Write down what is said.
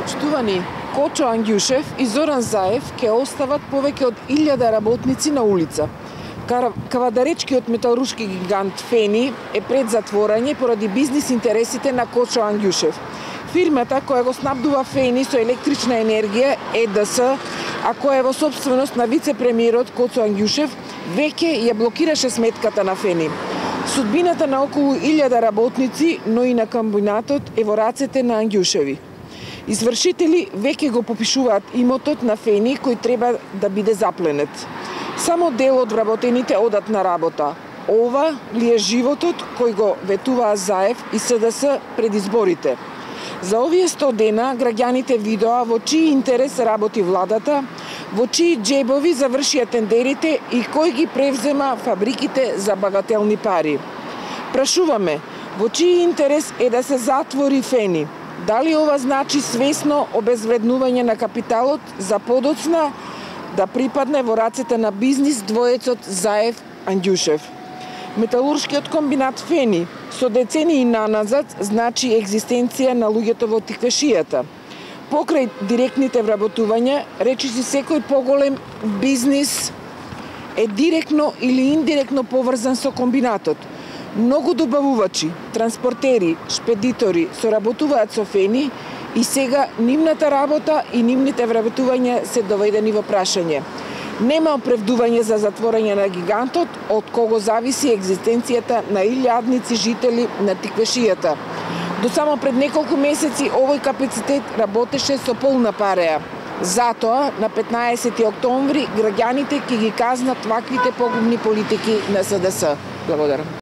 Почитувани, Кочо Ангјушев и Зоран Заев ќе остават повеќе од 1000 работници на улица. Кавадаречкиот металуршки гигант Фени е пред затворање поради бизнис интересите на Кочо Ангјушев. Фирмата која го снабдува Фени со електрична енергија ЕДС, а која е во сопственост на вице-премиерот Кочо Ангјушев, веќе ја блокираше сметката на Фени. Судбината на околу 1000 работници, но и на комбинатот е во рацете на Ангјушеви. Извршители веќе го попишуваат имотот на Фени кој треба да биде запленет. Само дел од вработените одат на работа. Ова ли е животот кој го ветуваа Заев и СДС пред изборите? За овие 100 дена граѓаните видоа во чии интерес работи владата, во чии џебови завршија тендерите и кој ги превзема фабриките за багателни пари. Прашуваме, во чии интерес е да се затвори Фени? Дали ова значи свесно обезвреднување на капиталот за подоцна да припадне во рацете на бизнис двоецот Заев-Ангјушев? Металуршкиот комбинат Фени со децении наназад значи екзистенција на луѓето во тиквешијата. Покрај директните вработувања, речиси секој поголем бизнис е директно или индиректно поврзан со комбинатот. Многу добавувачи, транспортери, шпедитори соработуваат со Фени и сега нивната работа и нивните вработувања се доведени во прашање. Нема оправдување за затворање на гигантот, од кого зависи екзистенцијата на илјадници жители на тиквешијата. До само пред неколку месеци овој капацитет работеше со полна пареа. Затоа, на 15 октомври, граѓаните ќе ги казнат ваквите погубни политики на СДС. Благодарам.